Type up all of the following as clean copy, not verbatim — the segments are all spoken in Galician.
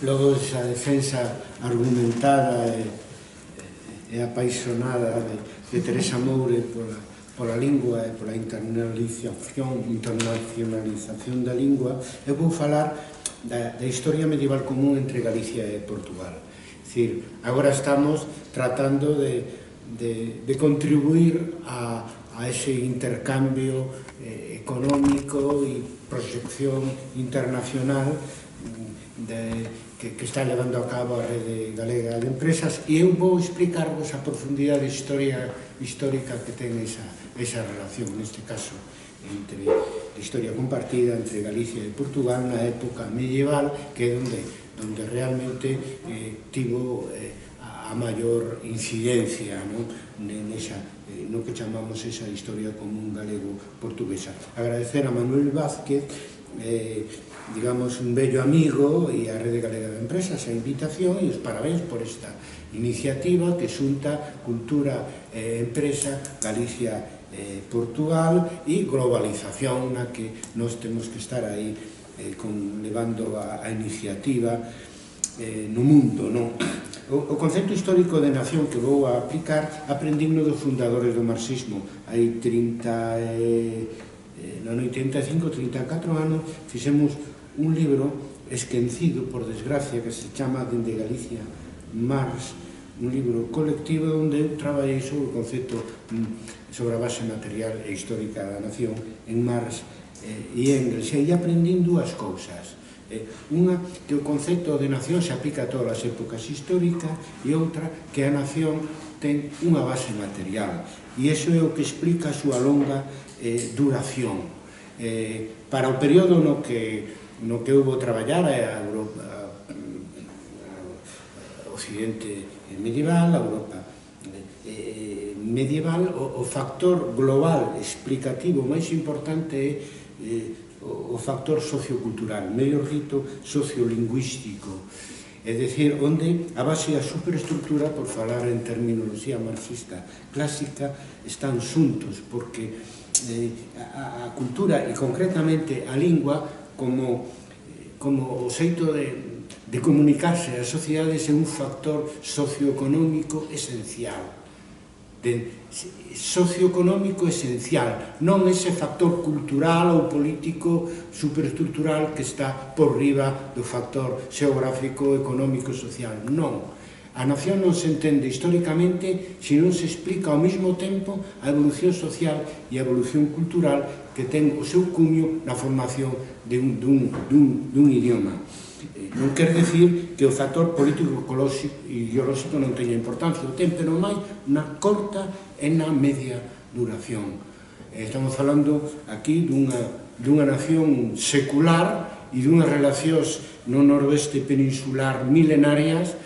logo esa defensa argumentada e apaixonada de Teresa Moure pola lingua e pola internacionalización da lingua, eu vou falar da historia medieval común entre Galicia e Portugal. É dicir, agora estamos tratando de contribuir a ese intercambio económico e proxección internacional que está levando a cabo a Rede Galega de Empresas, e eu vou explicarvos a profundidade histórica que ten esa relación, neste caso, entre a historia compartida entre Galicia e Portugal na época medieval, que é onde realmente tivo a maior incidencia no que chamamos esa historia común galego-portuguesa. Agradecer a Manuel Vázquez, digamos, un bello amigo, e a Rede Galega de Empresas a invitación e os parabéns por esta iniciativa que xunta cultura e empresa, Galicia e Portugal, e globalización na que nos temos que estar aí levando a iniciativa no mundo, non? O concepto histórico de nación que vou a aplicar aprendimos dos fundadores do marxismo. Hai 35-34 anos fixemos un libro esquecido, por desgracia, que se chama Dende Galicia Marx, un libro colectivo onde eu traballei sobre o concepto, sobre a base material e histórica da nación en Marx e Engels, e aprendín dúas cousas. Unha, que o concepto de nación se aplica a todas as épocas históricas, e outra, que a nación ten unha base material, e iso é o que explica a súa longa duración. Para o período no que eu vou traballar, a Europa occidente medieval, a Europa medieval, o factor global explicativo máis importante é o factor sociocultural, mellor dito, sociolingüístico, é dicir, onde a base e a superestructura, por falar en terminoloxía marxista clásica, están xuntos, porque a cultura e concretamente a lingua como o xeito de comunicarse ás sociedades é un factor socioeconómico esencial, socioeconómico esencial, non ese factor cultural ou político superestructural que está por riba do factor xeográfico, económico, social. Non. A nación non se entende históricamente se non se explica ao mesmo tempo a evolución social e a evolución cultural que ten o seu cuño na formación dun idioma. Non quer decir que o factor político e ideolóxico non teña importancia, o ten, pero máis na corta e na media duración. Estamos falando aquí dunha nación secular e dunhas relacións no noroeste peninsular milenarias.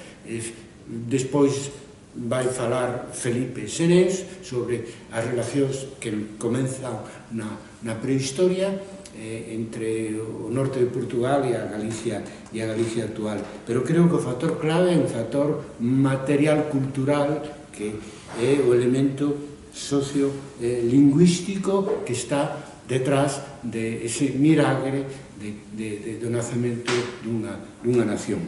Despois vai falar Felipe Serés sobre as relacións que comenzan na prehistoria entre o norte de Portugal e a Galicia actual. Pero creo que o factor clave é un factor material cultural, que é o elemento sociolingüístico que está detrás de ese milagre do nacemento dunha nación.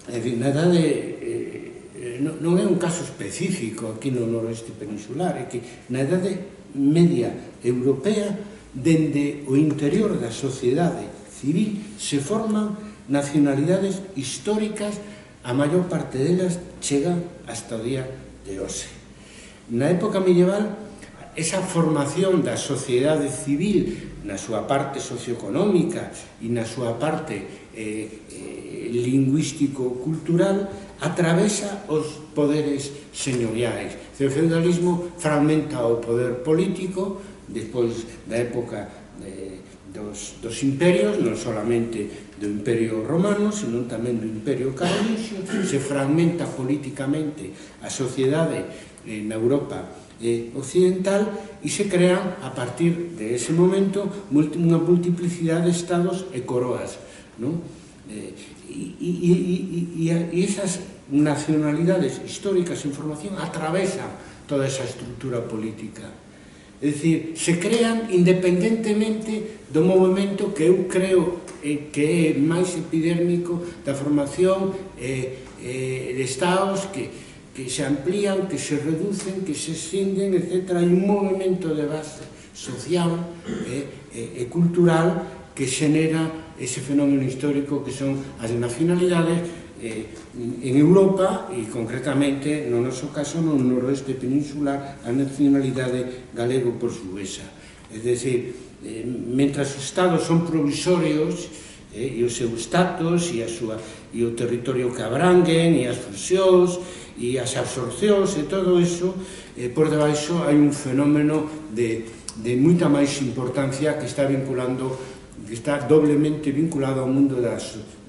En fin, na idade non é un caso específico aquí no noroeste peninsular, é que na idade media europea, dende o interior da sociedade civil, se forman nacionalidades históricas, a maior parte delas chegan hasta o día de hoxe. Na época medieval, esa formación da sociedade civil na súa parte socioeconómica e na súa parte lingüístico-cultural atravesa os poderes señoriais. O feudalismo fragmenta o poder político despois da época dos imperios, non solamente do Imperio Romano, senón tamén do Imperio Carolingio. Se fragmenta políticamente a sociedade na Europa occidental e se crean, a partir de ese momento, unha multiplicidade de estados e coroas, non? E esas nacionalidades históricas en formación atravesan toda esa estructura política. É É dicir, se crean independentemente do movimento que eu creo que é máis epidérmico da formación de estados que se amplían, que se reducen, que se extinden, etc. Hai un movimento de base social e cultural que xenera ese fenómeno histórico que son as nacionalidades en Europa e concretamente no noso caso no noroeste peninsular a nacionalidade galego-portuguesa. É dicir, mentras os estados son provisorios e o seu status e o territorio que abranguen e as fusións e as absorcións e todo iso, por debaixo hai un fenómeno de moita máis importancia que está vinculando, que está doblemente vinculado ao mundo da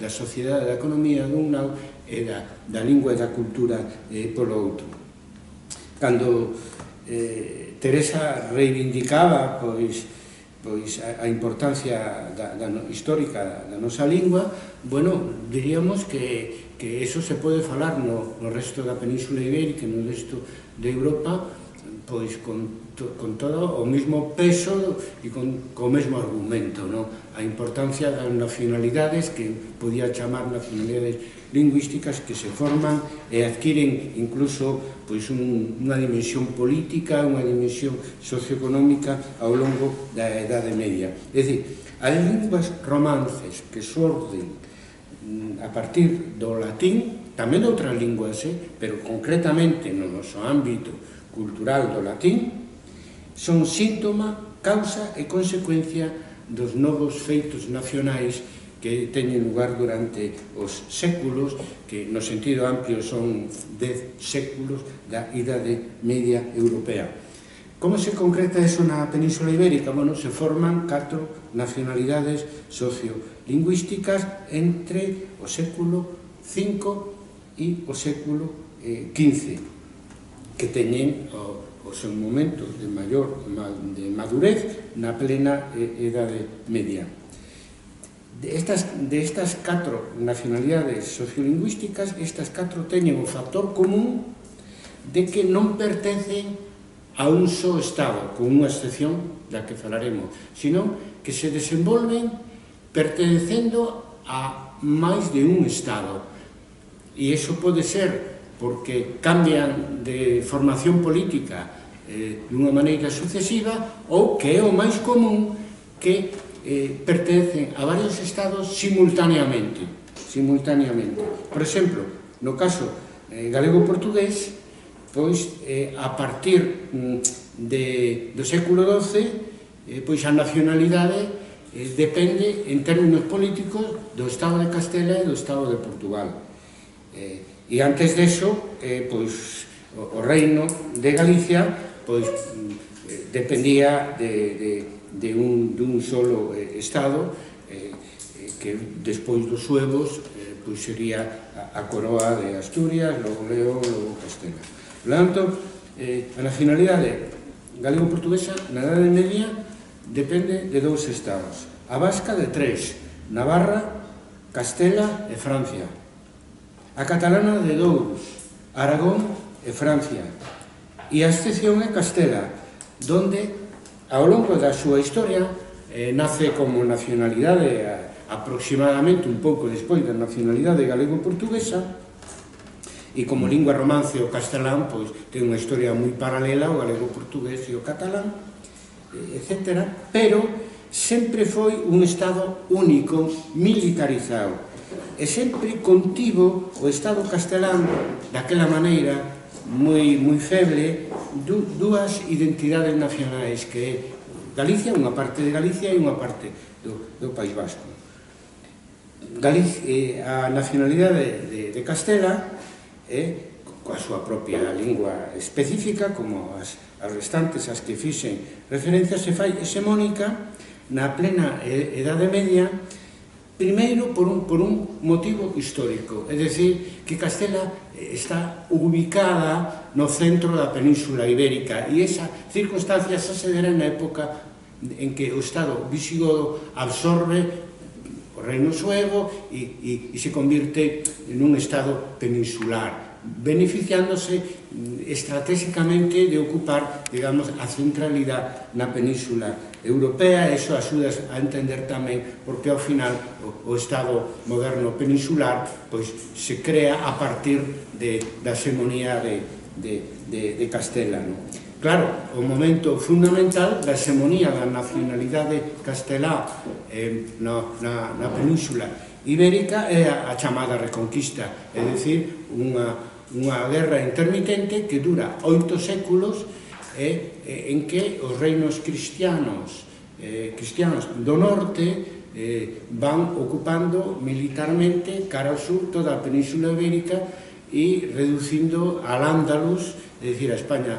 sociedade, da economía dun lado e da lingua e da cultura polo outro. Cando Teresa reivindicaba a importancia histórica da nosa lingua, bueno, diríamos que eso se pode falar no resto da Península Ibérica e no resto de Europa pois con todo o mesmo peso e con o mesmo argumento, a importancia das nacionalidades que podía chamar nacionalidades lingüísticas que se forman e adquiren incluso unha dimensión política, unha dimensión socioeconómica ao longo da Edade Media. É dicir, as linguas romances que xorden a partir do latín, tamén de outras linguas, pero concretamente no noso ámbito cultural do latín, son síntoma, causa e consecuencia dos novos feitos nacionais que teñen lugar durante os séculos, que no sentido amplio son 10 séculos da Idade Media Europea. Como se concreta eso na Península Ibérica? Bueno, se forman 4 nacionalidades sociolingüísticas entre o século V e o século XV, que teñen o seu momento de madurez na plena Edade Media. De estas 4 nacionalidades sociolingüísticas, estas 4 teñen o factor común de que non pertencen a un só Estado, con unha excepción da que falaremos, sino que se desenvolven pertencendo a máis de un Estado. E iso pode ser porque cambian de formación política dunha maneira sucesiva ou que é o máis común que pertencen a varios estados simultaneamente. Por exemplo, no caso galego-portugués, pois a partir do século XII, pois a nacionalidade depende en términos políticos do Estado de Castela e do Estado de Portugal. E antes deso, pois o reino de Galicia pois dependía de un solo Estado que despois dos suevos pois sería a coroa de Asturias, logo León, logo Castela. Por tanto, a nacionalidade galego-portuguesa na Edade Media depende de 2 estados. A vasca de 3, Navarra, Castela e Francia. A catalana de 2, Aragón e Francia. E a excepción é Castela, donde ao longo da súa historia nace como nacionalidade aproximadamente un pouco despois da nacionalidade galego-portuguesa e como lingua romance o castelán pois ten unha historia moi paralela ao galego-portugués e o catalán, etc. Pero sempre foi un Estado único, militarizado e sempre contivo o Estado castelán daquela maneira moi feble dúas identidades nacionais que é Galicia, unha parte de Galicia e unha parte do País Vasco. A nacionalidade de Castela coa súa propia lingua específica, como as restantes as que fixen referencia, se fai hexemónica na plena Edade Media, primeiro por un motivo histórico, é dicir, que Castela está ubicada no centro da Península Ibérica e esa circunstancia se dará na época en que o Estado visigodo absorbe o reino suevo e se convirte en un Estado peninsular. beneficiándose estratégicamente de ocupar, digamos, a centralidade na península europea. Eso axuda a entender tamén porque ao final o Estado moderno peninsular pois se crea a partir da hegemonía de Castela. Claro, o momento fundamental da hegemonía da nacionalidade castelá na península ibérica é a chamada Reconquista, é dicir, unha guerra intermitente que dura 8 séculos en que os reinos cristianos do norte van ocupando militarmente cara ao sur toda a península ibérica e reducindo al Ándalus, é dicir, a España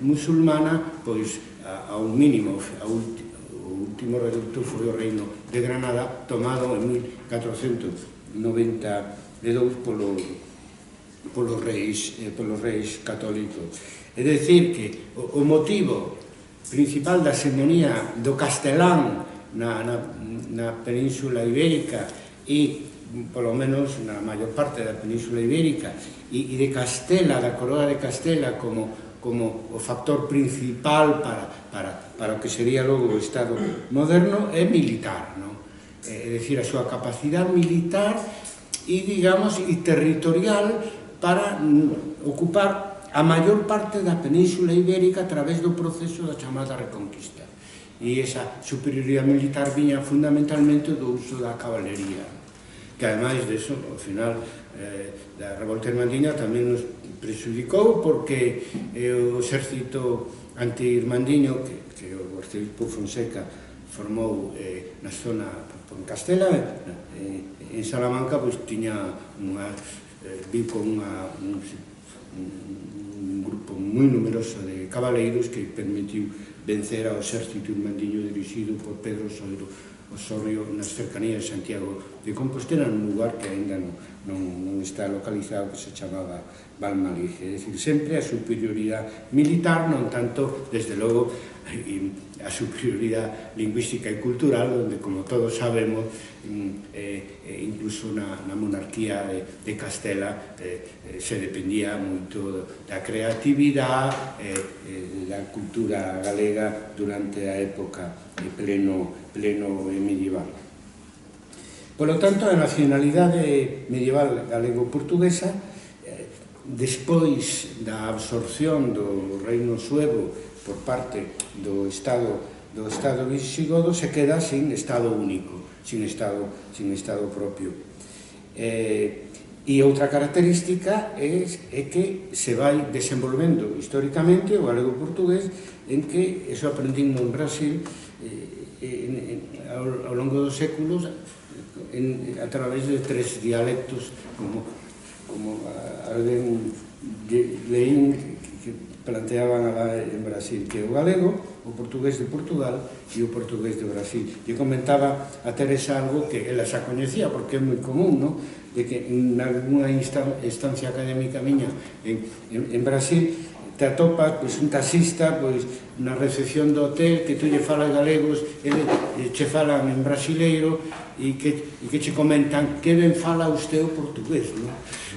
musulmana, pois a un mínimo. O último reducto foi o reino de Granada, tomado en 1492 polos reis católicos. É dicir, que o motivo principal da hegemonía do castelán na península ibérica e, polo menos, na maior parte da península ibérica e de Castela, da coroa de Castela como o factor principal para o que sería logo o Estado moderno é militar, é dicir, a súa capacidade militar e, digamos, e territorial para ocupar a maior parte da península ibérica a través do proceso da chamada Reconquista. E esa superioridade militar viña fundamentalmente do uso da caballería, que ademais de eso, ao final da revolta irmandiña tamén nos prejudicou, porque o exército anti-irmandiño que o arcebispo Fonseca formou na zona en Castela, en Salamanca, pois tiña vi con un grupo moi numeroso de cabaleiros que permitiu vencer ao exército irmandiño dirixido por Pedro Osorio nas cercanías de Santiago de Compostela, nun lugar que ainda non está localizado, que se chamaba Valmalige. É dicir, sempre a superioridade militar, non tanto, desde logo, a superioridade lingüística e cultural, onde, como todos sabemos, incluso na monarquía de Castela se dependía moito da creatividade da cultura galega durante a época pleno medieval. Por lo tanto, a nacionalidade medieval galego-portuguesa, despois da absorción do reino suevo por parte do Estado visigodo, se queda sin Estado único, sin Estado propio. E outra característica é que se vai desenvolvendo históricamente o galego-portugués, en que, eso aprendimos en Brasil, ao longo dos séculos, a través de 3 dialectos, como alguén leín que planteaban en Brasil, que o galego, o portugués de Portugal e o portugués de Brasil. E comentaba a Teresa algo que ela xa coñecía, porque é moi común, de que en alguna instancia académica miña en Brasil te atopas un taxista na recepción do hotel que tú lle falas galegos, che falan en brasileiro e que che comentan que ben fala usted o portugués,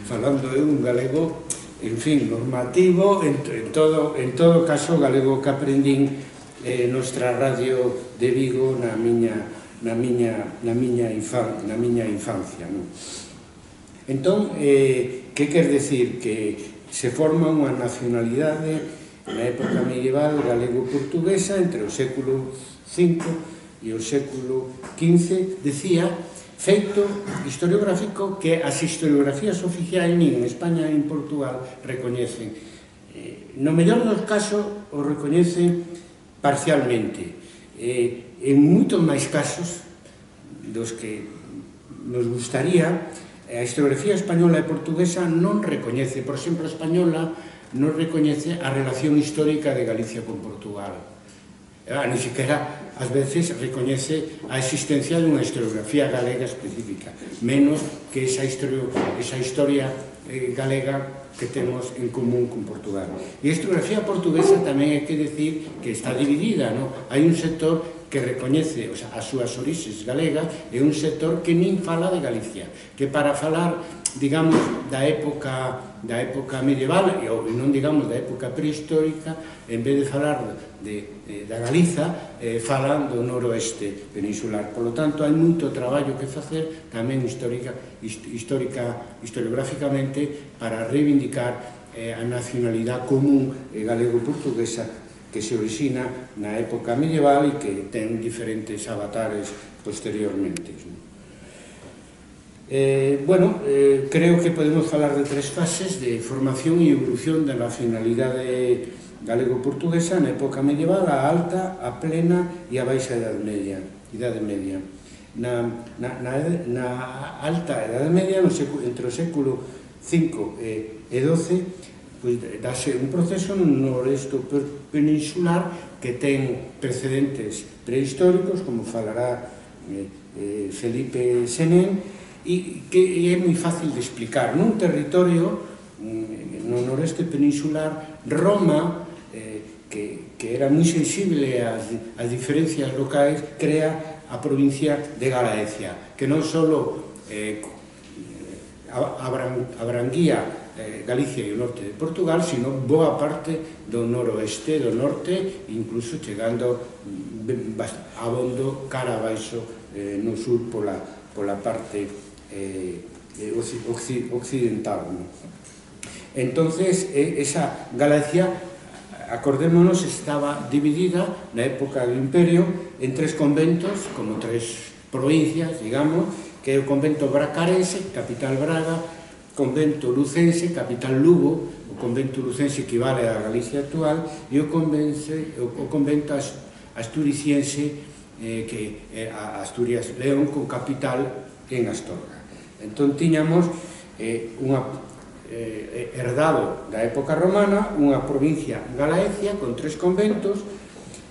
falando de un galego, en fin, normativo, en todo caso galego que aprendín nuestra radio de Vigo na miña infancia. Entón, que quer decir? Que se forma unha nacionalidade na época medieval galego-portuguesa entre o século V e o século XV, decía, feito historiográfico que as historiografías oficiais nin en España nin en Portugal recoñecen. No mellor dos casos o recoñecen parcialmente. En moitos máis casos dos que nos gustaría, a historiografía española e portuguesa non recoñece, por exemplo, a española non recoñece a relación histórica de Galicia con Portugal. Ni siquiera, ás veces, recoñece a existencia dunha historiografía galega específica, menos que esa historia galega que temos en común con Portugal. E a historiografía portuguesa tamén hai que decir que está dividida, hai un sector que recoñece as súas orixes galegas e un sector que nin fala de Galicia, que para falar, digamos, da época medieval, e non digamos da época prehistórica, en vez de falar da Galiza, falan do noroeste peninsular. Por lo tanto, hai moito traballo que facer tamén historiográficamente para reivindicar a nacionalidade común galego-portuguesa que se origina na época medieval e que ten diferentes avatares posteriormente. Creo que podemos falar de tres fases de formación e evolución da nacionalidade galego-portuguesa na época medieval, a alta, a plena e a baixa Idade Media. Na alta Idade Media, entre o século V e XII, dáse un proceso no noroeste peninsular que ten precedentes prehistóricos, como falará Felipe Senén, e que é moi fácil de explicar. Nun territorio, no noroeste peninsular, Roma, que era moi sensible ás diferencias locais, crea a provincia de Galaecia, que non só abranguía Galicia e o norte de Portugal, sino boa parte do noroeste, do norte, incluso chegando abondo cara abaixo no sur pola parte occidental. Entonces, esa Galicia, acordémonos, estaba dividida na época do Imperio en tres conventos, como tres provincias, digamos, que é o convento bracarense, capital Braga, convento lucense, capital Lugo, o convento lucense equivale á Galicia actual, e o convento asturiciense, que é a Asturias León, con capital en Astorga. Entón, tiñamos herdado da época romana unha provincia Galaecia con tres conventos.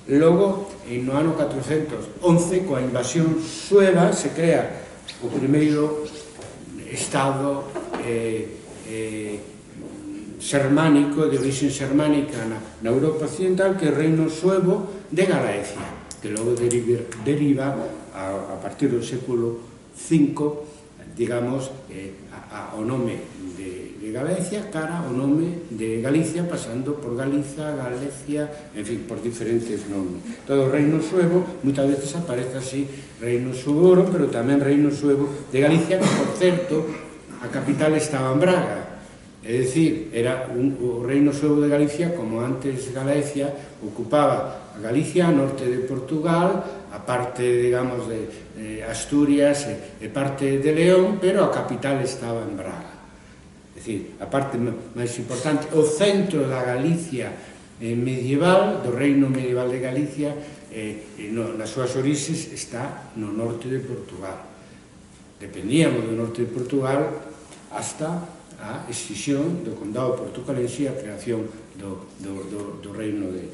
Logo, no ano 411, coa invasión sueva, se crea o primeiro estado sermánico, de origen sermánica na Europa occidental, que é o reino suevo de Galaecia, que logo deriva a partir do século V, digamos, ao nome de Galaecia cara ao nome de Galicia, pasando por Galiza, Galicia, en fin, por diferentes nomes. Todo o reino suevo, moitas veces aparece así, reino suevo, pero tamén reino suevo de Galicia, que, por certo, a capital estaba en Braga. É dicir, era o reino suevo de Galicia, como antes Galaecia, ocupaba a Galicia, a norte de Portugal, a parte, digamos, de Asturias e parte de León, pero a capital estaba en Braga. É dicir, a parte máis importante, o centro da Galicia medieval, do reino medieval de Galicia, nas súas orixes, está no norte de Portugal. Dependíamos do norte de Portugal hasta a escisión do condado portucalense e a creación do reino de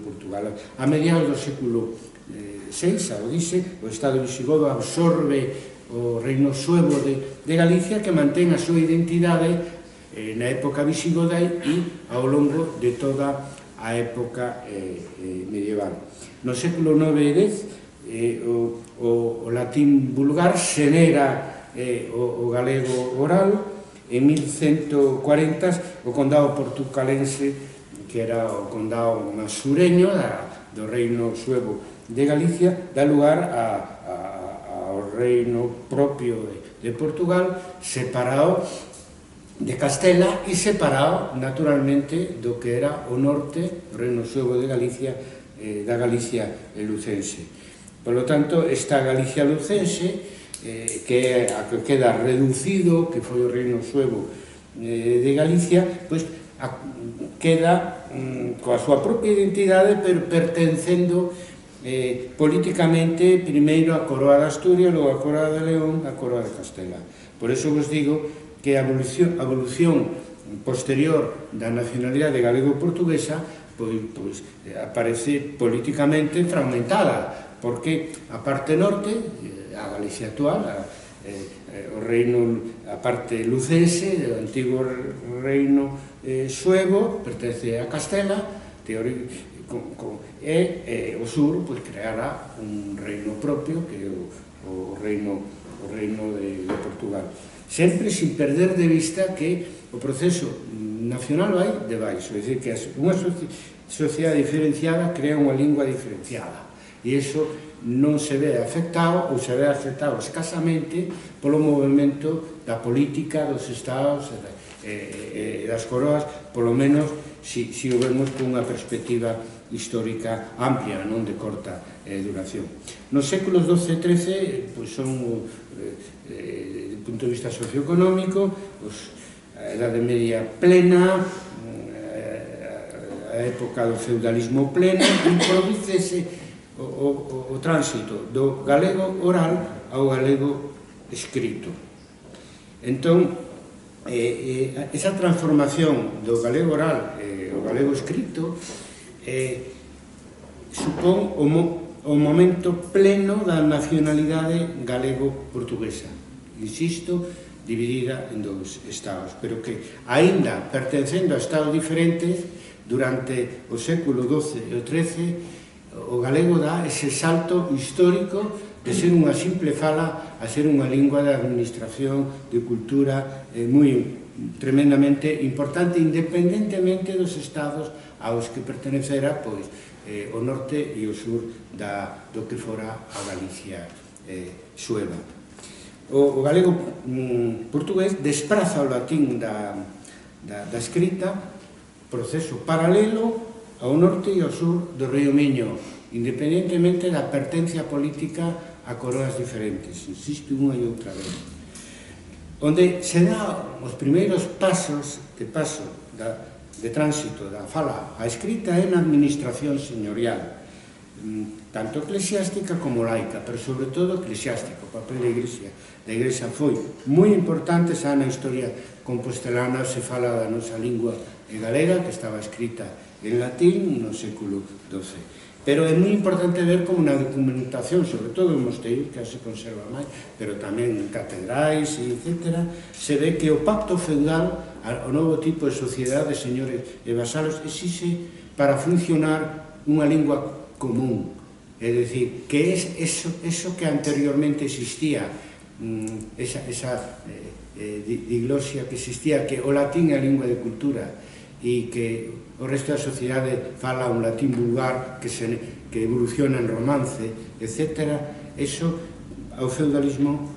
Portugal. A mediados do século VI, ao dice, o Estado visigodo absorbe o reino suevo de Galicia, que mantén a súa identidade na época visigoda e ao longo de toda a época medieval. No século IX e X, o latín vulgar xenera o galego oral. En 1140, o condado portucalense, que era o condado máis sureño do reino suevo de Galicia, dá lugar ao reino propio de Portugal, separado de Castela e separado, naturalmente, do que era o norte, o reino suevo de Galicia, da Galicia lucense. Por lo tanto, esta Galicia lucense, que é a que queda reducido, que foi o reino suevo de Galicia, pois queda coa súa propia identidade, pero pertencendo políticamente primeiro a Coroa de Asturias, logo a Coroa de León, a Coroa de Castela. Por eso vos digo que a evolución posterior da nacionalidade galego-portuguesa pois aparece políticamente fragmentada, porque a parte norte, a Galicia actual, o reino, a parte lucense, o antigo reino suevo, pertence a Castela, e o sur creara un reino propio, que é o reino de Portugal. Sempre sin perder de vista que o proceso nacional vai de baixo, é dicir, que unha sociedade diferenciada crea unha lingua diferenciada, e iso non se ve afectado, ou se ve afectado escasamente polo movimento da política dos estados e das coroas, polo menos si o vemos con unha perspectiva histórica amplia, non de corta duración. Nos séculos XII e XIII son, do punto de vista socioeconómico, a Edade Media plena, a época do feudalismo pleno, e prodúcese o tránsito do galego oral ao galego escrito. Entón, esa transformación do galego oral ao galego escrito supón o momento pleno da nacionalidade galego-portuguesa, insisto, dividida en dous estados, pero que, aínda pertencendo a estados diferentes, durante o século XII e o XIII, o galego dá ese salto histórico de ser unha simple fala a ser unha lingua de administración, de cultura, tremendamente importante, independentemente dos estados aos que pertenecera, pois, o norte e o sur do que fora a Galicia sueva. O galego portugués despraza o latín da escrita, proceso paralelo ao norte e ao sur do río Miño, independentemente da pertencia política a coroas diferentes, insisto unha e outra vez. Onde se dá os primeiros pasos de tránsito da fala á escrita é na administración señorial, tanto eclesiástica como laica, pero sobre todo eclesiástica. O papel da Igrexa foi moi importante, xa na historia compostelana se fala da nosa lingua galega, que estaba escrita en latín no século XII. Pero é moi importante ver como na documentación, sobre todo en mosteiros, que se conserva máis, pero tamén en catedrais, etc., se ve que o pacto feudal, o novo tipo de sociedade de señores e vasalos, exixe para funcionar unha lingua común. É dicir, que é eso que anteriormente existía, esa diglosia que existía, que o latín é a lingua de cultura, e que o resto da sociedade fala un latín vulgar que evoluciona en romance, etc. Eso ao feudalismo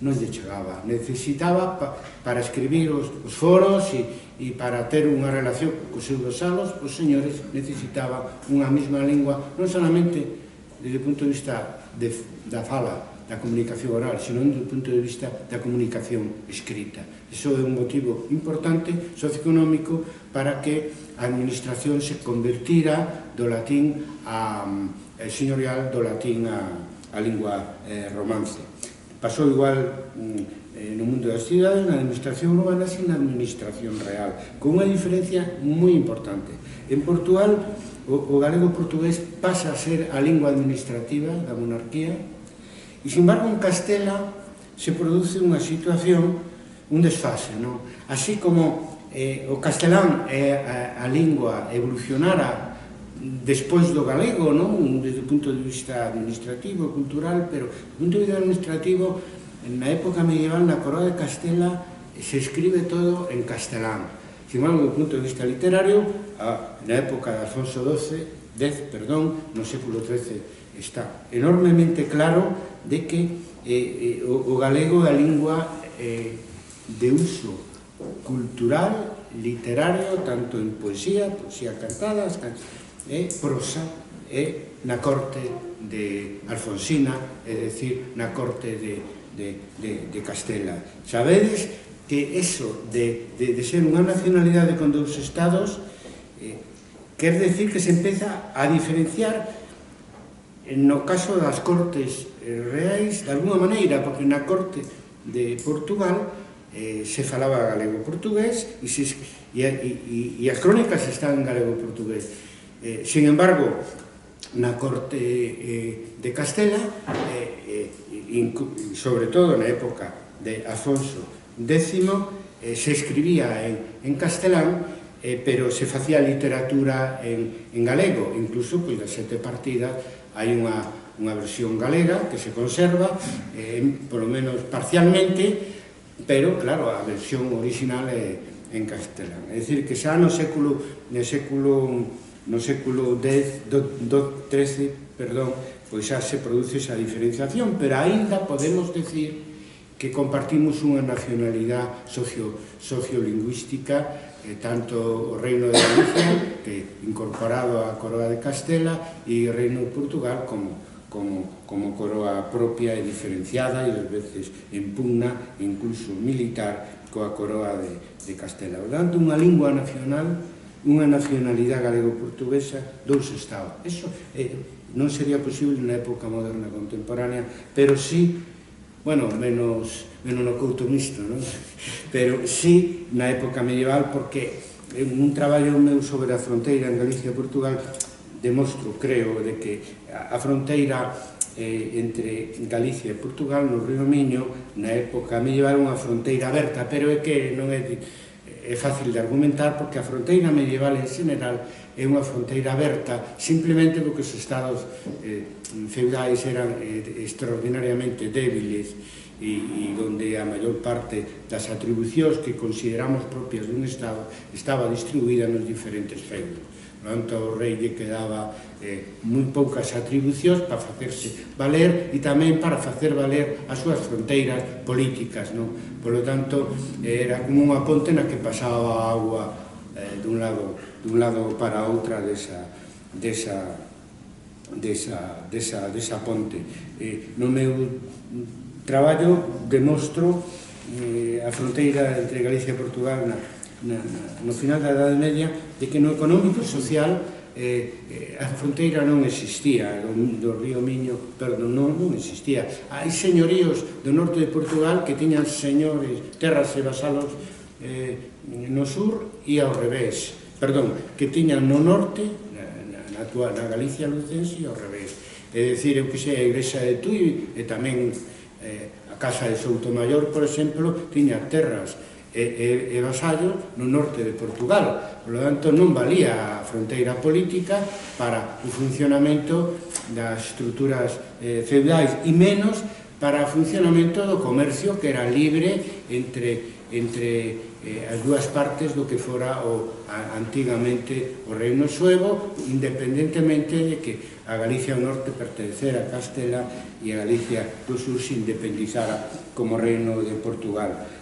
non lle chegaba. Necesitaba, para escribir os foros e para ter unha relación cos seus vasalos, os señores necesitaban unha mesma lingua, non solamente desde o punto de vista da fala, da comunicación oral, sino do punto de vista da comunicación escrita. Iso é un motivo importante socioeconómico para que a administración se convertira do latín señorial, do latín a lingua romance. Pasou igual no mundo das cidades, na administración urbana e na administración real, con unha diferencia moi importante. En Portugal, o galego portugués pasa a ser a lingua administrativa da monarquía, e, sin embargo, en Castela se produce unha situación, un desfase, non? Así como o castelán a lingua evolucionara despois do galego, non? Desde o punto de vista administrativo, cultural, pero desde o punto de vista administrativo, na época medieval, na coroa de Castela, se escribe todo en castelán. Sin embargo, do punto de vista literario, na época de Alfonso X, no século XIII, está enormemente claro de que o galego é a lingua de uso cultural, literario, tanto en poesía cantada, prosa, na corte de Alfonsina, é dicir, na corte de Castela. Sabedes que eso de ser unha nacionalidade con dous estados quer decir que se empeza a diferenciar no caso das cortes reais, de alguma maneira, porque na corte de Portugal se falaba galego-portugués e as crónicas están en galego-portugués. Sin embargo, na corte de Castela, sobre todo na época de Afonso X, se escribía en castelán, pero se facía literatura en galego, incluso das 7 partidas hai unha versión galega que se conserva, polo menos parcialmente, pero, claro, a versión original é en castelán. É dicir, que xa no século XIII, pois xa se produce esa diferenciación, pero aínda podemos decir que compartimos unha nacionalidade sociolingüística, tanto o Reino de Galicia, que incorporado á Coroa de Castela, e o Reino de Portugal como coroa propia e diferenciada, e ás veces en pugna, incluso militar, coa Coroa de Castela. Por tanto, unha lingua nacional, unha nacionalidade galego-portuguesa, 2 estados. Eso non sería posible na época moderna contemporánea, pero sí, bueno, menos no Couto Mixto, non? Pero sí na época medieval, porque en un traballo meu sobre a fronteira en Galicia e Portugal demostro, creo, de que a fronteira entre Galicia e Portugal no Río Miño na época medieval unha fronteira aberta, pero é que non é fácil de argumentar, porque a fronteira medieval en general é unha fronteira aberta simplemente porque os estados feudais eran extraordinariamente débiles e onde a maior parte das atribucións que consideramos propias dun estado estaba distribuída nos diferentes feudos. Por tanto, o rei lle quedaba moi poucas atribucións para facerse valer e tamén para facer valer as súas fronteiras políticas, non? Por lo tanto, era como unha ponte na que pasaba a agua dun lado para outra desa ponte. No meu traballo demostro a fronteira entre Galicia e Portugal no final da Idade Media, de que no económico e social a fronteira non existía, do río Miño, perdón, non existía. Hai señoríos do norte de Portugal que tiñan señores, terras e vasalos no sur e ao revés, perdón, que tiñan no norte, na Galicia lucense e ao revés. É dicir, eu que sei, a igrexa de Tui e tamén a casa de Soutomaior, por exemplo, tiña terras e vasallos no norte de Portugal. Por lo tanto, non valía a fronteira política para o funcionamento das estruturas feudais e menos para o funcionamento do comercio, que era libre entre as dúas partes do que fora antigamente o Reino Suevo, independentemente de que a Galicia do Norte pertencera a Castela e a Galicia do Sur se independizara como Reino de Portugal.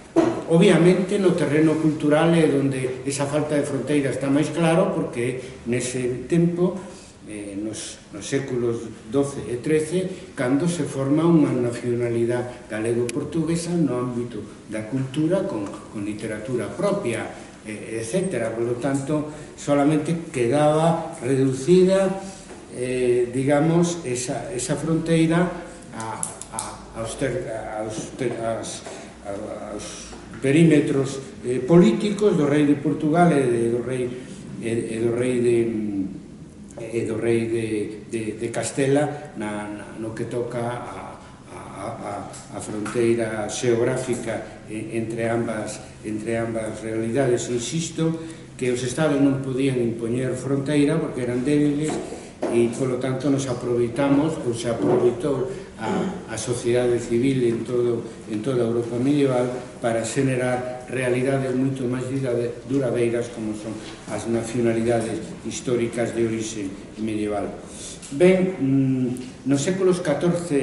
Obviamente, no terreno cultural é onde esa falta de fronteira está máis claro, porque nese tempo, nos séculos XII e XIII, cando se forma unha nacionalidade galego-portuguesa no ámbito da cultura, con literatura propia, etc. Por lo tanto, solamente quedaba reducida, digamos, esa fronteira aos perímetros políticos do rei de Portugal e do rei de Castela no que toca a fronteira xeográfica entre ambas realidades. Insisto que os estados non podían impoñer fronteira porque eran débiles e, polo tanto, nos aproveitamos, ou se aproveitou a sociedade civil en toda a Europa medieval para xenerar realidades moito máis duradeiras como son as nacionalidades históricas de orixe medieval. Ben, nos séculos XIV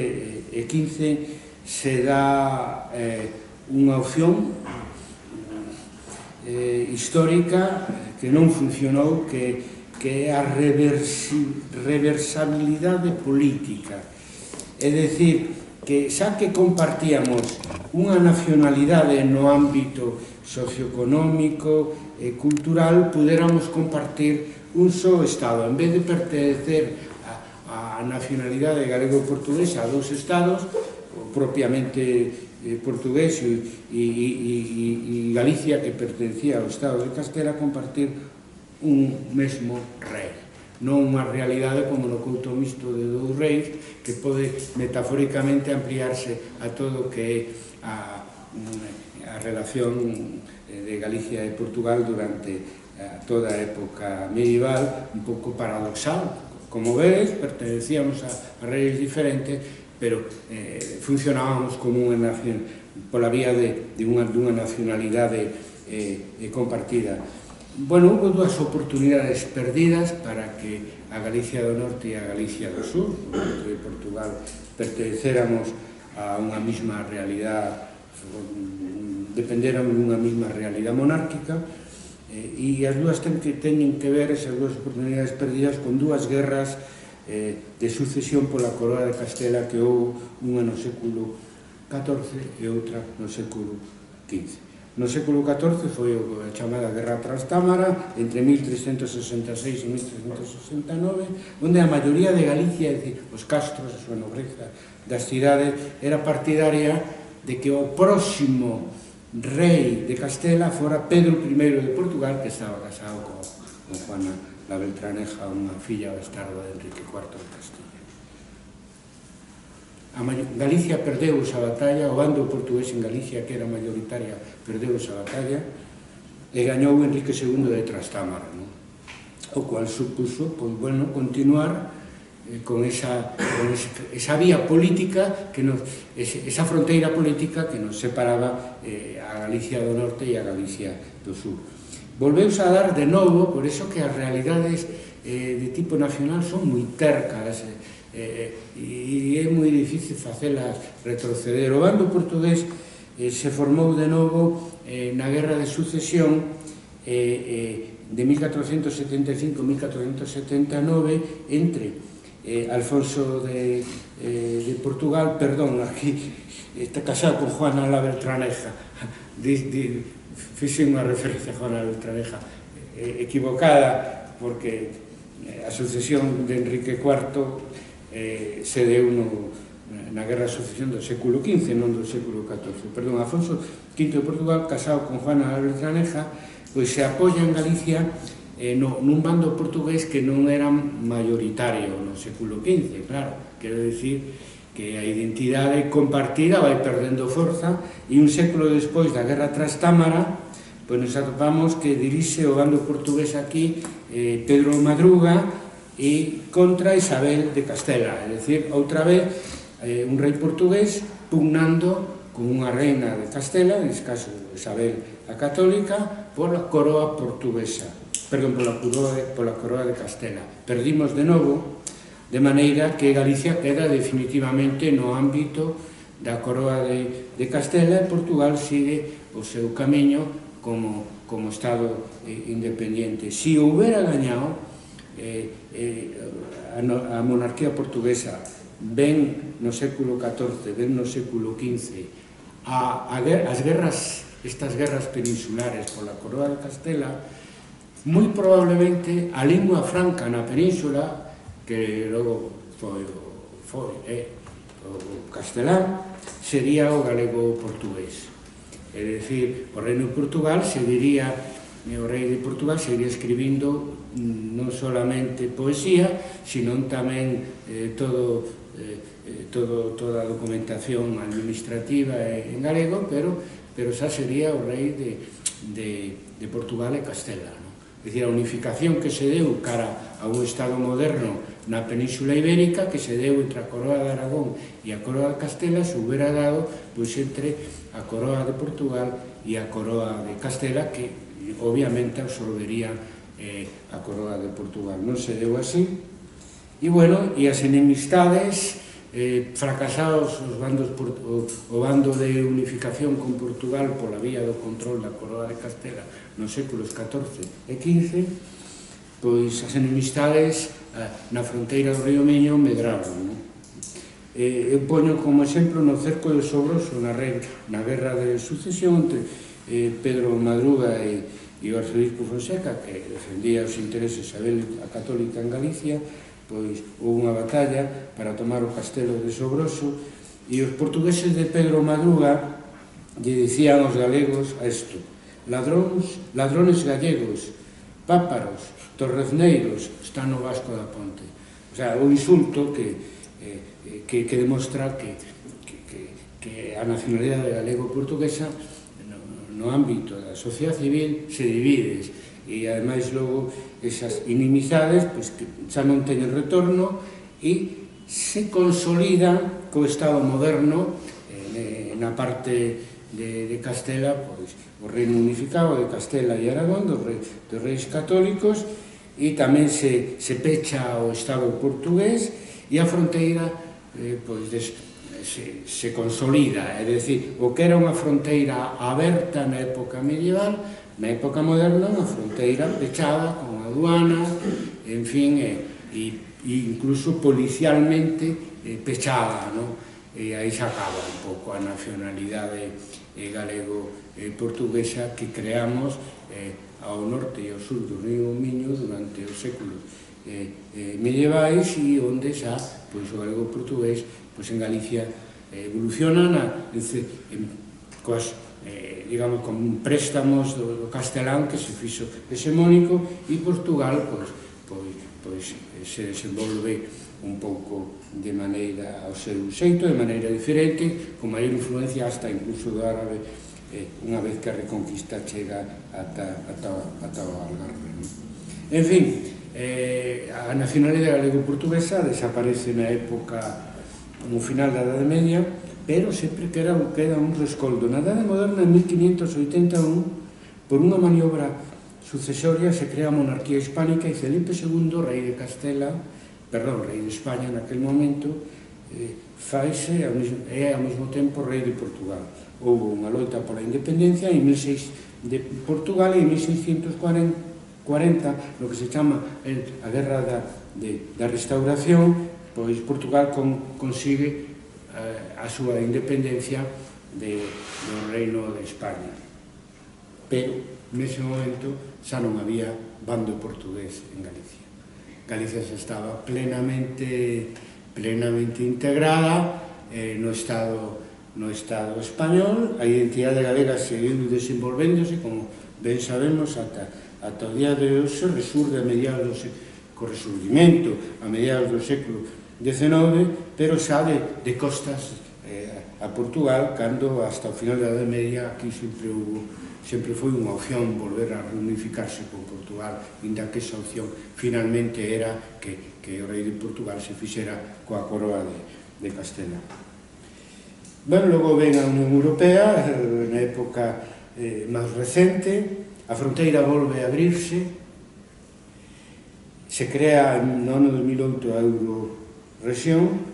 e XV se dá unha opción histórica que non funcionou, que é a reversabilidade política. É dicir, que xa que compartíamos unha nacionalidade no ámbito socioeconómico e cultural, puderamos compartir un só Estado. En vez de pertenecer a nacionalidade galego-portuguesa a 2 Estados, propiamente portugués e Galicia, que pertencía ao Estado de Castela, compartir un mesmo rei. Non unha realidade como no Couto Mixto de 2 reis, que pode metafóricamente ampliarse a todo o que é a relación de Galicia e Portugal durante toda a época medieval, un pouco paradoxal. Como vedes, pertenecíamos a reyes diferentes, pero funcionábamos como unha nación, pola vía dunha nacionalidade compartida. Bueno, houve dúas oportunidades perdidas para que a Galicia do Norte e a Galicia do Sur, dentro de Portugal, pertenecéramos a unha mesma realidade, dependéramos dunha mesma realidade monárquica, e as dúas teñen que ver, esas dúas oportunidades perdidas, con dúas guerras de sucesión pola coroa de Castela, que houve unha no século XIV e outra no século XV. No século XIV foi a chamada Guerra Trastámara, entre 1366 e 1369, onde a maioría de Galicia, é dicir, os castros, a súa nobreza das cidades, era partidaria de que o próximo rei de Castela fora Pedro I de Portugal, que estaba casado con Juana la Beltraneja, unha filla bastarda de Enrique IV de Castilla. Galicia perdeu esa batalla, o bando portugués en Galicia, que era mayoritaria, perdeu esa batalla, e gañou Enrique II de Trastámara, o cual supuso, continuar con esa vía política, esa fronteira política que nos separaba a Galicia do Norte e a Galicia do Sur. Volveuse a dar de novo, por eso que as realidades de tipo nacional son moi tercas, e é moi difícil facelas retroceder. O bando portugués se formou de novo na Guerra de Sucesión de 1475-1479 entre Alfonso de Portugal, perdón, aquí está casado con Juana la Beltraneja, fixe unha referencia a Juana la Beltraneja equivocada, porque a sucesión de Enrique IV se deu na Guerra de Sucesión do século XV, non do século XIV. Perdón, Alfonso V de Portugal, casado con Juana la Beltraneja, pois se apoia en Galicia nun bando portugués que non era mayoritario no século XV, claro, quero dicir que a identidade compartida vai perdendo forza, e un século despois da Guerra Trastámara, pois nos atopamos que dirixe o bando portugués aquí Pedro Madruga, e contra Isabel de Castela, é dicir, outra vez un rei portugués pugnando con unha reina de Castela, en este caso Isabel a Católica, pola coroa portuguesa, perdón, pola coroa de Castela. Perdimos de novo, de maneira que Galicia queda definitivamente no ámbito da coroa de Castela, e Portugal sigue o seu camiño como Estado independiente. Se houbera gañado a monarquía portuguesa, ben no século XIV, ben no século XV, estas guerras peninsulares pola coroa de Castela, moi probablemente a lingua franca na península, que logo foi o castelán, sería o galego portugués. É dicir, o reino de Portugal seguiría, o rei de Portugal seguiría escribindo non solamente poesía, sino tamén toda a documentación administrativa en galego, pero xa sería o rei de Portugal e Castela. É dicir, a unificación que se deu cara a un Estado moderno na Península Ibérica, que se deu entre a coroa de Aragón e a coroa de Castela, se houbera dado entre a coroa de Portugal e a coroa de Castela, que obviamente absorbería a coroa de Portugal. Non se deu así, e bueno, e as enemistades, fracasados o bando de unificación con Portugal pola vía do control da coroa de Castela nos séculos XIV e XV, pois as enemistades na fronteira do río Miño medraron. Eu poño como exemplo no cerco de Sobroso, na Guerra de Sucesión entre Pedro Madruga e o arzobispo Fonseca, que defendía os intereses de Isabel a Católica en Galicia, pois houve unha batalla para tomar o castelo de Sobroso, e os portugueses de Pedro Madruga lle dicían aos galegos a isto: ladrones gallegos, páparos, torrezneiros, están no Vasco da Ponte. O sea, o insulto que demostra que a nacionalidade galego-portuguesa no ámbito da sociedade civil se divide e ademais logo esas inimizades que xa non teñen retorno e se consolidan co Estado moderno na parte de Castela, o reino unificado de Castela e Aragón, dos reis católicos, e tamén se pecha o Estado portugués e a fronteira se consolida, é dicir, o que era unha fronteira aberta na época medieval, na época moderna unha fronteira pechada con aduanas, en fin, e incluso policialmente pechada, e aí se acaba un pouco a nacionalidade galego-portuguesa que creamos ao norte e ao sur do río Miño durante os séculos medievais e onde xa o galego-portugués en Galicia evoluciona digamos, con préstamos do castelán que se fixo hexemónico e Portugal se desenvolve un pouco de maneira ao seu xeito, de maneira diferente, con maior influencia hasta incluso do árabe unha vez que a reconquista chega ata o Algarve. En fin, a nacionalidade galego-portuguesa desaparece na época no final da Edade Media, pero sempre queda un rescoldo. Na Edade Moderna, en 1581, por unha maniobra sucesoria, se crea a monarquía hispánica e Felipe II, rei de España naquel momento, é ao mesmo tempo rei de Portugal. Houve unha loita pola independencia de Portugal e en 1640, no que se chama a Guerra da Restauración, pois Portugal consigue a súa independencia do reino de España. Pero, nese momento, xa non había bando portugués en Galicia. Galicia xa estaba plenamente integrada no Estado español. A identidade galega seguiu desenvolvéndose, como ben sabemos, ata o día de hoxe, resurge a mediados co resurgimento a mediados do século XIX, pero xa de costas a Portugal, cando hasta o final da Edade Media aquí sempre foi unha opción volver a reunificarse con Portugal, inda que esa opción finalmente era que o rei de Portugal se fixera coa coroa de Castela. Logo ven a Unión Europea, na época máis recente, a fronteira volve a abrirse, se crea no ano 2008 a Eurorexión,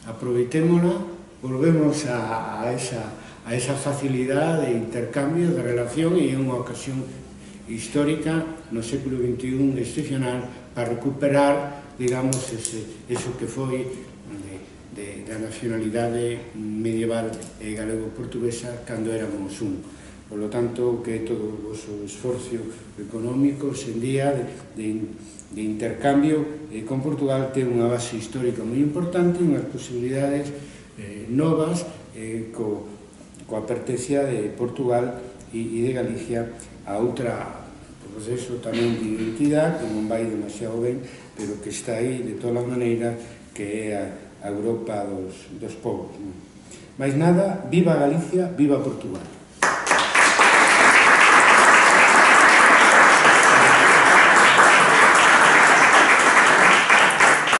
aproveitémola, volvemos a esa facilidade de intercambio, de relación, e é unha ocasión histórica no século XXI excepcional para recuperar, digamos, eso que foi da nacionalidade medieval galego-portuguesa cando éramos un. Por lo tanto, que todo o vosso esforzo económico sen día de intercambio con Portugal ten unha base histórica moi importante, unhas posibilidades novas coa pertenencia de Portugal e de Galicia a outra proceso tamén de identidade que non vai demasiado ben, pero que está aí de todas as maneiras, que é a Europa dos povos. Mais nada, viva Galicia, viva Portugal.